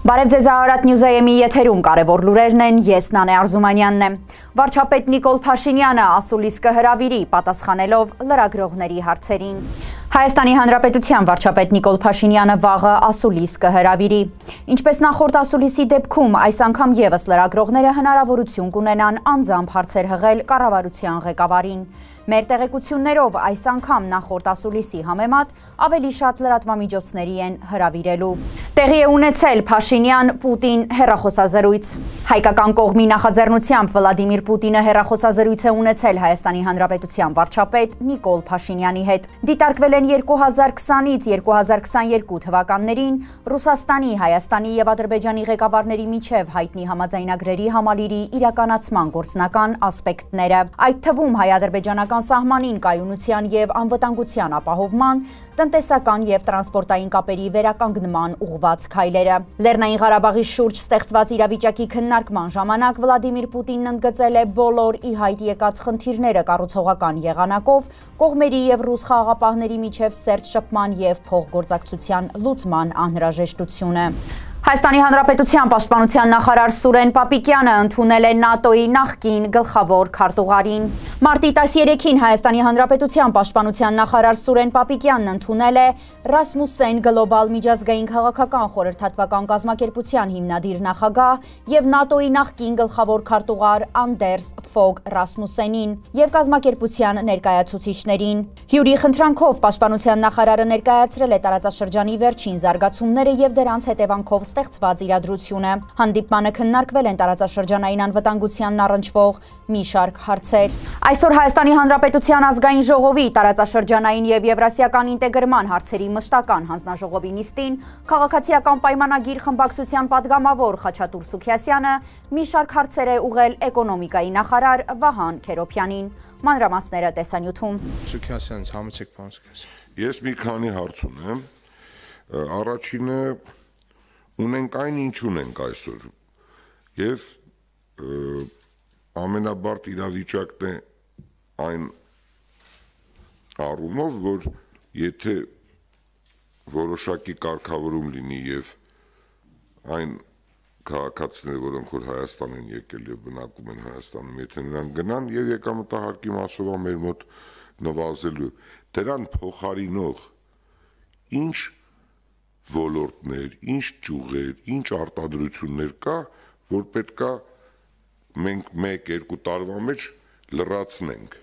Բարև ձեզ Արարատ Նյուզայեմի եթերում կարևոր լուրերն են, ես Նանե Արզումանյանն եմ։ Վարչապետ Նիկոլ Փաշինյանը ասուլիս կհրավիրի, պատասխանելով լրագրողների հարցերին։ Հայաստանի Հանրապետության վարչապետ Նիկոլ Փաշինյանը վաղը ասուլիս կհրավիրի։ Ինչպես նախորդ ասուլիսի դեպքում, այս անգամ ևս լրագրողները հնարավորություն կունենան անձամբ հարցեր հղել կառավարության ղեկավարին։ Մեր տեղեկություններով այս անգամ նախորդ ասուլիսի համեմատ ավելի շատ լրատվամիջոցների են հրավիրելու։ Տեղի է ունեցել Փաշինյան-Պուտին հեռախոսազրույց։ Հայկական կողմի նախաձեռնությամբ Վլադիմիր Պուտինը հեռախոսազրույց է ունեցել Հայաստանի Հանրապետության վարչապետ Նիկոլ Փաշինյանի հետ։ Դիտարկվել են 2020-ից 2022 թվականներին Ռուսաստանի, Հայաստանի և Ադրբեջանի ղեկավարների միջև հայտնի համաձայնագրերի համալիրի իրականացման գործնական ասպեկտները։ Այդ թվում հայ-ադրբեջանական սահմանին կայունության և անվտանգության ապահովման, տնտեսական և տրանսպորտային կապերի վերականգնման ուղղված քայլերը։ Լեռնային Ղարաբաղի շուրջ ստեղծված իրավիճակի քննարկման ժամանակ Վլադիմիր Պուտինն ընդգծել է բոլոր ի հայտ եկած խնդիրները կառուցողական եղանակով կողմերի և ռուս խաղաղապահների միջև սերտ շփման և փոխգործակցության լուծման անհրաժեշտությունը։ Հայաստանի Հանրապետության պաշտպանության նախարար Սուրեն Պապիկյանը ընդունել է ՆԱՏՕ-ի նախկին գլխավոր քարտուղարին։ Մարտի 13-ին Հայաստանի Հանրապետության պաշտպանության նախարար Սուրեն Պապիկյանն ընդունել է Ռասմուսեն գլոբալ միջազգային քաղաքական խորհրդատվական կազմակերպության հիմնադիր նախագահ և ՆԱՏՕ-ի նախկին գլխավոր քարտուղար Անդերս Ֆոգ Ռասմուսենին և կազմակերպության ներկայացուցիչներին։ Հյուրի խնդրանքով պաշտպանության նախարարը ներկայացրել է տարածաշրջանի վերջին զարգացումները և դրանց հետևանքով ստեղծված իրադրությունը։ Հանդիպմանը քննարկվել են տարածաշրջանային անվտանգությանն առնչվող մի շարք հարցեր։ Այսօր Հայաստանի Հանրապետության ազգային ժողովի տարածաշրջանային և եվրասիական ինտեգրման հարցերի մշտական հանձնաժողովի նիստին քաղաքացիական պայմանագիր խմբակցության падգամավոր Խաչատուր Սուքիասյանը մի շարք հարցեր է ուղղել էկոնոմիկայի նախարար Վահան Քերոփյանին։ Մանրամասները տեսանյութում։ Սուքիասյան, համեցեք, պարոն Սուքիասյան։ Ես մի քանի հարց ունեմ։ Առաջինը ունենք այն, ինչ ունենք այսօր, և ամենաբարդ իրավիճակն է այն առումով, որ եթե որոշակի կարգավորում լինի և այն քաղաքացիները, որոնք որ Հայաստան են եկել և բնակվում են Հայաստանում, եթե նրանք գնան և եկամտահարկի մասով մեր մոտ նվազելու, դրան փոխարինող ինչ ոլորտներ, ինչ ճյուղեր, ինչ արտադրություններ կա, որ պետք է մենք 1-2 տարվա մեջ լրացնենք,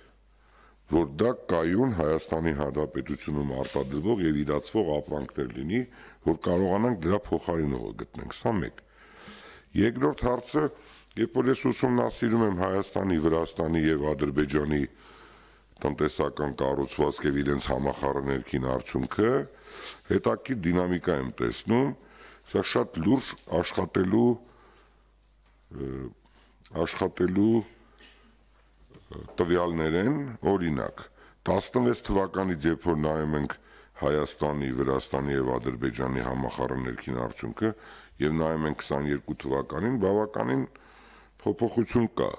որ դա կայուն Հայաստանի Հանրապետությունում արտադրվող և իրացվող ապրանքներ լինի, որ կարողանանք դրա փոխարինողը գտնենք, սա մեկ։ Երկրորդ հարցը, երբ որ ես ուսումնասիրում եմ Հայաստանի, Վրաստանի և Ադրբեջանի տնտեսական կառուցվածք և իրենց համախառն արդյունքը, հետաքրքիր դինամիկա եմ տեսնում, սա շատ լուրջ աշխատելու տվյալներ են, օրինակ 16 թվականից, երբ որ նայում ենք Հայաստանի, Վրաստանի և Ադրբեջանի համախառն արդյունքը և նայում ենք 22 թվականին, բավականին փոփոխություն կա,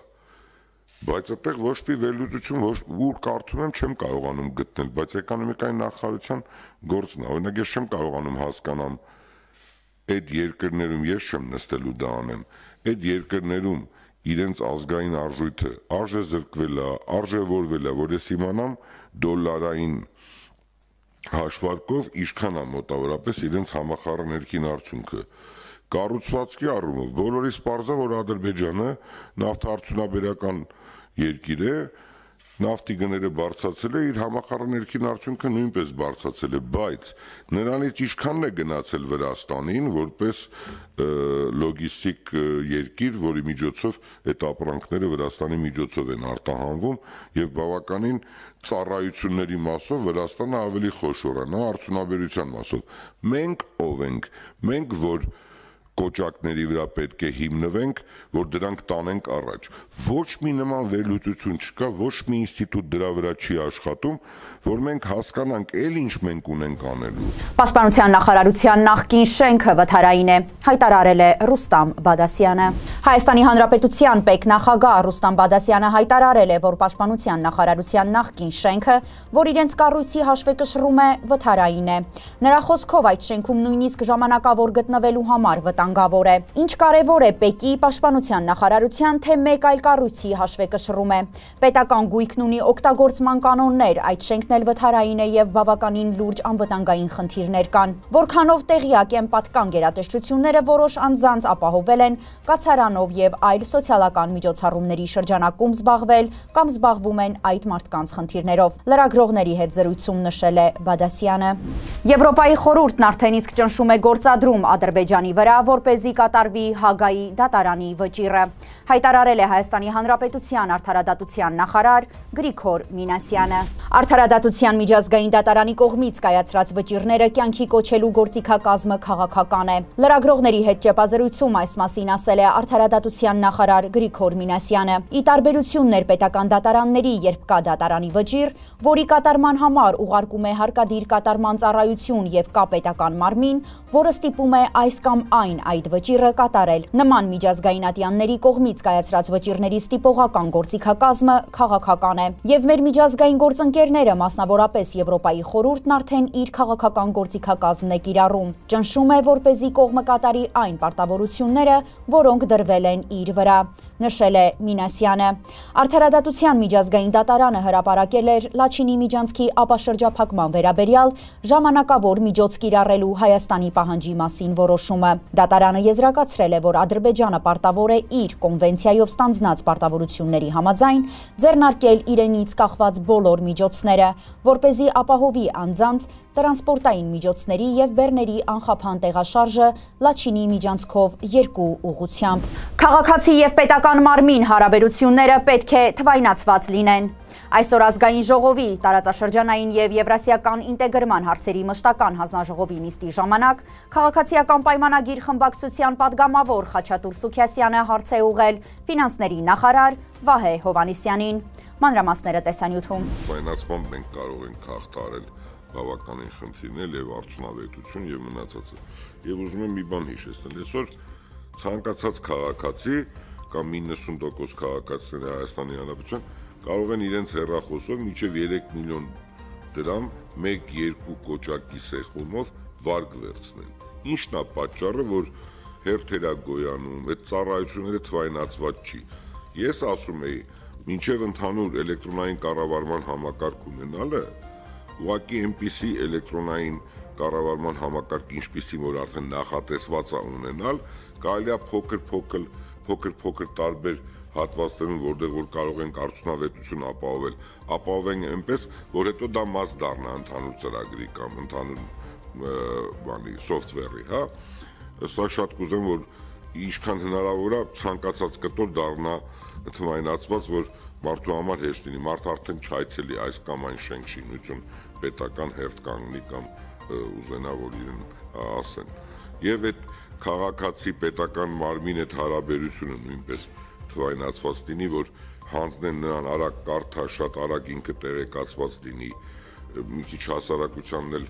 բայց այդտեղ ոչ մի վերլուծություն, ուր կարդում եմ, չեմ կարողանում գտնել, բայց էկոնոմիկայի նախարարության գործն է, օրինակ ես չեմ կարողանում հասկանամ այդ երկրներում, ես չեմ նստելու դա անեմ, այդ երկրներում իրենց ազգային արժույթը արժեզրկվել է, արժևորվել է, որ ես իմանամ դոլարային հաշվարկով ինչքան է մոտավորապես իրենց համախառն արդյունքը։ Կառուցվածքի առումով բոլորիս պարզ է, որ Ադրբեջանը նավթարդյունաբերական երկիր է, նավթի գները բարձրացել է, իր համախառն արդյունքը նույնպես բարձրացել է, բայց նրանից ինչքանն է գնացել Վրաստանին, որպես լոգիստիկ երկիր, որի միջոցով այդ ապրանքները Վրաստանի միջոցով են արտահանվում և բավականին ծառայությունների մասով Վրաստանը ավելի խոշոր է, նա արդյունաբերության մասով։ Մենք ով ենք, մենք որ կոճակների վրա պետք է հիմնվենք, որ դրանք տանենք առաջ։ Ոչ մի նման վերլուծություն չկա, ոչ մի ինստիտուտ դրա վրա չի աշխատում, որ մենք հասկանանք էլ ինչ մենք ունենք անելու։ Պաշտպանության նախարարության նախկին շենքը վթարային է, հայտարարել է Ռուստամ Բադասյանը։ Հայաստանի Հանրապետության պետնախագահ Ռուստամ Բադասյանը հայտարարել է, որ Պաշտպանության նախարարության նախկին շենքը, որ իրենց կառույցի հաշվեկշռում է, վթարային է։ Նրա խոսքով այդ շենքում նույնիսկ ժամանակավոր գտնվելու համար վտանգավոր է։ Ինչ կարևոր է ՊԵԿ-ի պաշտպանության նախարարության, թե մեկ այլ կառույցի հաշվեկշռում է։ Պետական գույքն ունի օգտագործման կանոններ, այդ շենքն էլ վթարային է եւ բավականին լուրջ անվտանգային խնդիրներ կան։ Որքանով տեղյակ են պատկան գերատեսչությունները, որոշ անձանց ապահովել են կացարանով եւ այլ սոցիալական միջոցառումների շրջանակում զբաղվել կամ զբաղվում են այդ մարդկանց խնդիրներով։ Լրագրողների հետ զրույցում նշել է Բադասյանը։ Եվրոպայի խորհուրդն արդեն իսկ ճնշում է գործադրում Ադրբեջանի վրա, որպեսզի կատարվի Հագայի դատարանի վճիռը, հայտարարել է Հայաստանի Հանրապետության արդարադատության նախարար Գրիգոր Մինասյանը։ Արդարադատության միջազգային դատարանի կողմից կայացրած վճիռները կյանքի կոչելու գործիքակազմը քաղաքական է։ Լրագրողների հետ ճեպազրույցում այս մասին ասել է արդարադատության նախարար Գրիգոր Մինասյանը։ Ի տարբերություն ներպետական դատարանների, երբ կա դատարանի վճիռ, որի կատարման համար ուղարկում է հարկադիր կատարման ծառայություն եւ կա պետական մարմին, որը ստիպում է այս կամ այն այդ վճիռը կատարել։ Նման միջազգային ատյանների կողմից կայացրած վճիռների ստիպողական գործիքակազմը քաղաքական է։ Եվ մեր միջազգային գործընկերները, մասնավորապես Եվրոպայի խորհուրդն արդեն իր քաղաքական գործիքակազմն է կիրառում։ Ճնշում է, որպեսզի կողմը կատարի այն պարտավորությունները, որոնք դրվել են իր վրա, նշել է Մինասյանը։ Արդարադատության միջազգային դատարանը հրապարակել էր Լաչինի միջանցքի ապաշրջափակման վերաբերյալ ժամանակավոր միջոց կիրառելու Հայաստանի պահանջի մասին որոշումը։ Դատարանը եզրակացրել է, որ Ադրբեջանը պարտավոր է իր կոնվենցիայով ստանձնած պարտավորությունների համաձայն ձեռնարկել իրենից կախված բոլոր միջոցները, որպեսզի ապահովի անձանց տրանսպորտային միջոցների եւ բեռների անխափան տեղաշարժը Լաչինի միջանցքով երկու ուղղությամբ։ Քաղաքացի եւ պետական մարմին հարաբերությունները պետք է թվայնացված լինեն։ Այսօր ազգային ժողովի տարածաշրջանային եւ եվրասիական ինտեգրման հարցերի մշտական հանձնաժողովի նիստի ժամանակ քաղաքացիական պայմանագիր խմբակցության падգամավոր Խաչատուր Սուքիասյանը հարց է ուղղել ֆինանսների նախարար Վահե Հովհաննիսյանին։ Մանրամասները տեսանյութում։ Պայմանացմամբ մենք կարող ենք հաղթահարել բավականին խնդիրներ եւ արդյունավետություն եւ մնացածը։ Եվ ուզում եմ մի բան հիշեցնել, այսօր ցանկացած քաղաքացի կամ 90% քաղաքացիների Հայաստանի Հանրապետության կարող են իրենց հեռախոսով մինչև 3 միլիոն դրամ 1-2 կոճակի սեղմումով վարկ վերցնել։ Ինչն է պատճառը, որ հերթերա գոյանում, այդ ծառայությունները թվայնացված չի։ Ես ասում եի, մինչև ընդհանուր էլեկտրոնային կառավարման համակարգ ունենալը, ուղղակի այնպիսի էլեկտրոնային կառավարման համակարգ, ինչպիսին որ արդեն նախատեսված է ունենալ, կարելի է փոքր տարբեր հատվածներում, որտեղ որ կարող ենք արդյունավետություն ապահովենք այնպես, որ հետո դա մաս դառնա ընդհանուր ծրագրի կամ ընդհանուր սոֆթվերի, հա։ Սա շատ կուզեմ, որ ինչքան հնարավոր է ցանկացած կտոր դառնա թվայնացված, որ մարդու համար հեշտ լինի, մարդ արդեն չայցելի այս կամ այն շենք շինություն պետական հերթ կանգնի կամ ուզենա, որ իրեն ասեն։ Եվ այդ քաղաքացի պետական մարմին այդ հարաբերությունը նույնպես թվայնացված լինի, որ հանձնեն նրան արագ կարդա, շատ արագ ինքը տեղեկացված լինի, մի քիչ հասարակությանն էլ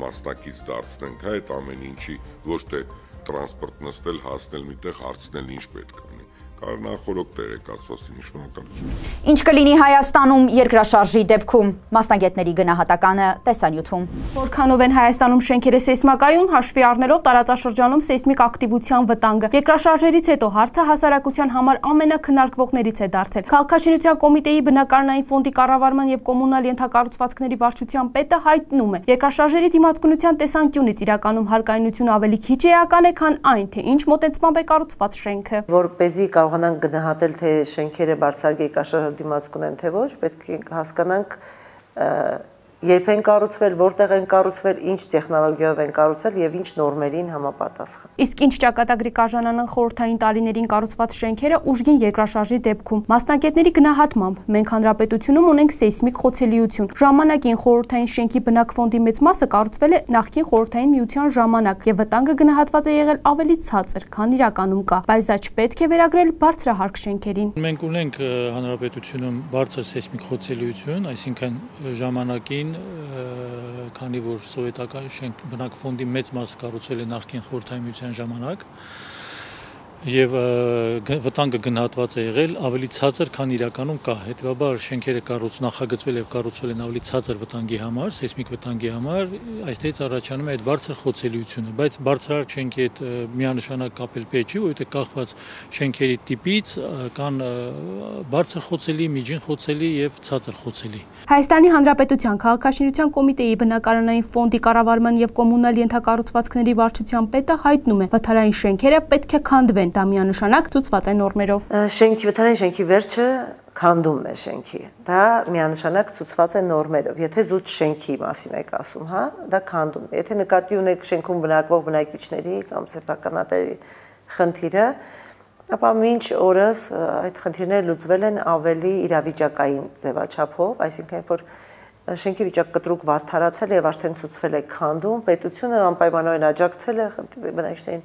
մասնակից դարձնենք, այդ ամեն ինչի, ոչ թե տրանսպորտ նստել, հասնել միտեղ, հարցնել ինչ պետք է։ Կարող նախորդ տեղեկացված լինի, շնորհակալություն։ Ինչ կլինի Հայաստանում երկրաշարժի դեպքում, մասնագետների գնահատականը տեսանյութում։ Որքանով են Հայաստանում շենքերը սեյսմակայում, հաշվի առնելով տարածաշրջանում սեյսմիկ ակտիվության վտանգը։ Երկրաշարժերից հետո հարցը հասարակության համար ամենակնարկվողներից է դարձել։ Քաղաքաշինության կոմիտեի բնակարանային ֆոնդի կառավարման եւ կոմունալ ենթակառուցվածքների վարչության պետը հայտնում է, երկրաշարժերի դիմացկունության տեսանկյունից իրականում հարկայնությունը ավելի քիչ էական է, քան այն, թե ինչ մոտեցմամբ է կառուցված շենքը։ Որպեսզի կարողանանք գնահատել, թե շենքերը բարձր երկրաշարժի դիմացկուն են, թե ոչ, պետք է հասկանանք երբ են կառուցվել, որտեղ են կառուցվել, ինչ տեխնոլոգիայով են կառուցվել եւ ինչ նորմերին համապատասխան։ Իսկ ինչ ճակատագրի կարժանանան խորհրդային տարիներին կառուցված շենքերը ուժգին երկրաշարժի դեպքում։ Մասնագետների գնահատմամբ մենք հանրապետությունում ունենք սեյսմիկ խոցելիություն։ Ժամանակին խորհրդային շենքի բնակֆոնդի մեծ մասը կառուցվել է նախկին խորհրդային միության ժամանակ եւ վտանգը գնահատված է եղել ավելի ցածր, քան իրականում կա, բայց դա չպետք է վերագրել բարձրահարկ շենքերին։ Մենք ունենք հանրապետությունում բարձր սեյսմիկ խոցելիություն, այսինքն ժամանակին քանի որ սովետական շենք բնակֆոնդի մեծ մաս կառուցվել է նախկին խորհրդային միության ժամանակ, եւ վտանգը գնահատված է եղել ավելի ցածր, քան իրականում կա։ Հետևաբար շենքերը նախագծվել եւ կառուցվել են ավելի ցածր վտանգի համար, սեյսմիկ վտանգի համար, այստեղից առաջանում է այդ բարձր խոցելիությունը, բայց բարձրարկ շենքի հետ միանշանակ կապել պետք չի, որովհետեւ կախված շենքերի տիպից կան բարձր խոցելի, միջին խոցելի եւ ցածր խոցելի։ Հայաստանի Հանրապետության Քաղաքաշինության կոմիտեի բնակարանային ֆոնդի կառավարման եւ կոմունալ ենթակառուցվածքների վարչության պետը հայտնում է, վթարային շենքերը պետք է քանդվեն, դա միանշանակ ցուցված է նորմերով։ Վթարային շենքի վերջը քանդումն է շենքի։ Դա միանշանակ ցուցված է նորմերով։ Եթե զուտ շենքի մասին եք ասում, հա, դա քանդումն է։ Եթե նկատի ունեք շենքում բնակվող բնակիչների կամ սեփականատերի խնդիրը, ապա մինչ օրս այդ խնդիրները լուծվել են ավելի իրավիճակային ձևաչափով, այսինքն որ շենքի վիճակ կտրուկ վատթարացել է եւ արդեն ցուցվել է քանդում, պետությունը անպայմանորեն աջակցել է բնակիչներին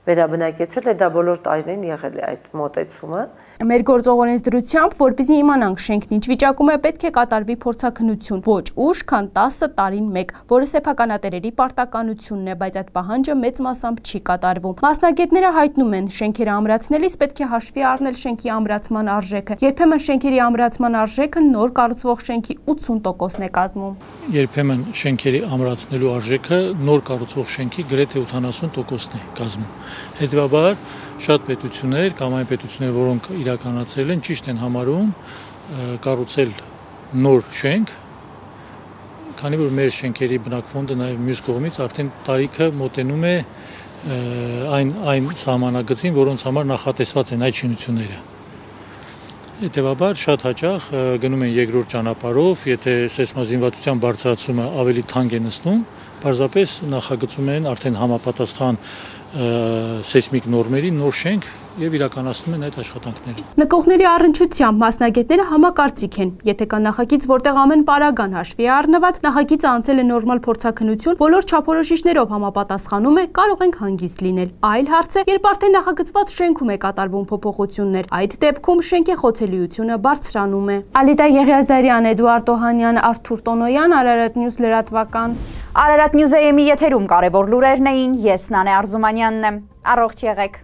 վերաբնակեցել է, դա բոլոր տարիներին եղել է այդ մոտեցումը։ Մեր գործող օրենսդրությամբ, որպեսզի իմանանք շենքն ինչ վիճակում է, պետք է կատարվի փորձաքննություն, ոչ ուշ, քան 10 տարին մեկ, որը սեփականատերերի պարտականությունն է, բայց այդ պահանջը մեծ մասամբ չի կատարվում։ Մասնագետները հայտնում են, շենքերը ամրացնելիս պետք է հաշվի առնել շենքի ամրացման արժեքը։ Երբեմն շենքերի ամրացման արժեքը նոր կառուցվող շենքի 80%-ն է կազմում։ Երբեմն շենքերի ամրացնելու արժեքը նոր կառուցվող շենքի գրեթե 80%-ն է կազմում։ Հետևաբար շատ պետություններ կամ այն պետություններ, որոնք իրականացրել են, ճիշտ են համարում կառուցել նոր շենք, քանի որ մեր շենքերի բնակֆոնդը նաև մյուս կողմից արդեն տարիքը մոտենում է այն սահմանագծին, որոնց համար նախատեսված են այդ շինությունները։ Հետևաբար շատ հաճախ գնում են երկրորդ ճանապարհով, եթե սեյսմազինվածության բարձրացումը ավելի թանկ է նստում, պարզապես նախագծում են արդեն համապատասխան սեյսմիկ նորմերի նոր շենք եւ իրականացնում են այդ աշխատանքները։ Նկողների առնչությամբ մասնագետները համակարծիք են, եթե կա նախագիծ, որտեղ ամեն պարագան հաշվի է առնված, նախագիծը անցել է նորմալ փորձաքննություն, բոլոր չափորոշիչներով համապատասխանում է, կարող ենք հանգիստ լինել։ Այլ հարց է, երբ արդեն նախագծված շենքում է կատարվում փոփոխություններ, այդ դեպքում շենքի խոցելիությունը բարձրանում է։ Ալիդա Եղիազարյան, Էդուարդ Օհանյան, Արթուր Տոնոյան, Արարատ Նյուզ լրատվական։ Արարատ Նյուզ AM-ի եթերում կարևոր լուրերն էին, ես Նանե Արզումանյանն եմ։ Առողջ եղեք։